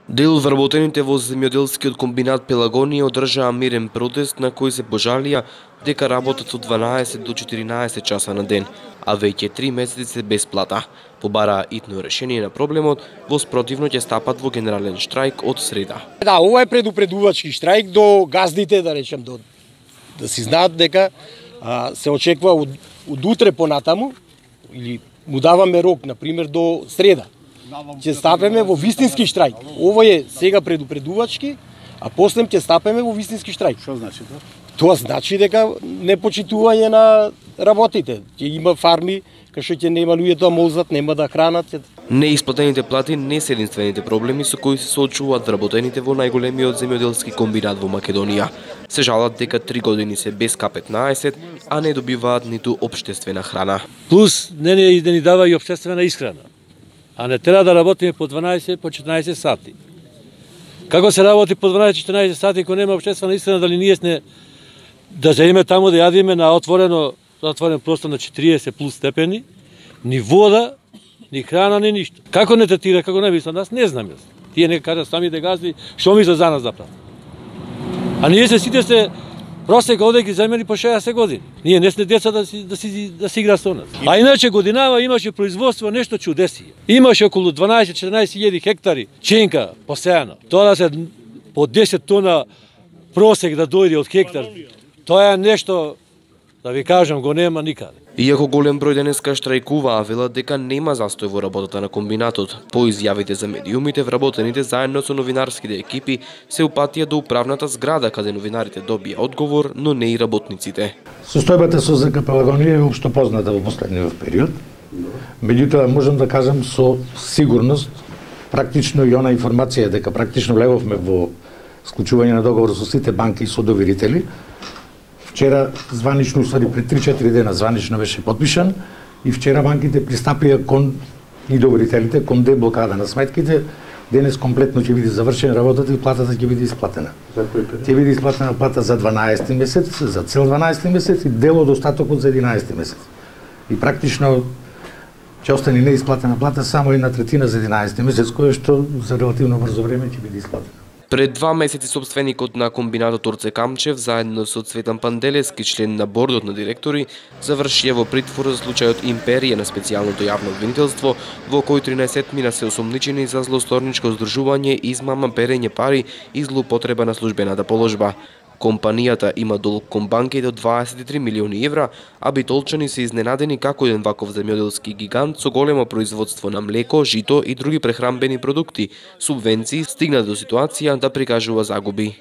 Дел вработените во земјоделскиот комбинат Пелагонија одржаа мирен протест на кој се пожалија дека работат од 12 до 14 часа на ден, а веќе 3 месеци се без плата. Побараа итно решение на проблемот, во спротивно ќе стапат во генерален штрајк од среда. Да, ова е предупредувачки штрајк до газдите, да речем, да си знаат дека се очекува од утре понатаму, или му даваме рок, например, до среда. Ќе стапеме во вистински штрајк. Ово е сега предупредувачки, а после ќе стапеме во вистински штрајк. Што значи тоа? Тоа значи дека непочитување на работите. Ќе има фарми кај што ќе нема луѓе да молзат, нема да хранат. Неисплатените плати не се единствените проблеми со кои се соочуваат вработените во најголемиот земјоделски комбинат во Македонија. Се жалат дека 3 години се без К15, а не добиваат ниту општествена храна. Плюс не ни дава и општествена исхрана. А не треба да работиме по 12, по 14 сати. Како се работи по 12-14 сати кога нема општествена исхрана, дали ние сме да заеме таму да јадиме на отворен простор на 40 плюс степени, ни вода, ни храна, ни ништо. Како не третира, како не мислам, нас не знам јас. Тие нека кажат самите газди, што мислат за нас да прават. А ние сите се просека овде ги земени по 60 години. Ние не сме деца да си игра со нас. А иначе годинава имаше производство нешто чудесие. Имаше околу 12-14 хектари ченка посејано. Тоа да се по 10 тона просек да дојде од хектар. Тоа е нешто, да ви кажам, го нема никаде. Иако голем број денеска штрајкуваа, велат дека нема застој во работата на комбинатот. По изјавите за медиумите, вработените заедно со новинарските екипи се упатија до управната зграда каде новинарите добија одговор, но не и работниците. Состојбата со ЗК Пелагонија е општо позната во последниот период. Меѓутоа можам да кажам со сигурност, практично и она информација дека практично влеговме во склучување на договор со сите банки и со доверители. Вчера званично, пред 3-4 дена званично беше подпишан и вчера банките пристапија кон и доверителите кон деблокада на сметките. Денес комплетно ќе биде завршена работата и платата ќе биде исплатена. Ќе биде исплатена плата за 12 месец, за цел 12 месец и дел од остатокот за 11 месец. И практично ќе остане неисплатена плата само 1/3 за 11 месец, која што за релативно брзо време ќе биде исплатена. Пред 2 месеци собственикот на комбинатот Орце Камчев, заедно со Цветан Панделески, член на бордот на директори, завршија во притвор за случајот Империја на специјалното јавно обвинителство, во кој 13 мина се осомничени за злосторничко здружување, измама, перење пари и злоупотреба на службената положба. Компанијата има долг кон банките од 23 милиони евра, а битолчани се изненадени како еден ваков земјоделски гигант со големо производство на млеко, жито и други прехранбени продукти, субвенции, стигна до ситуација да прикажува загуби.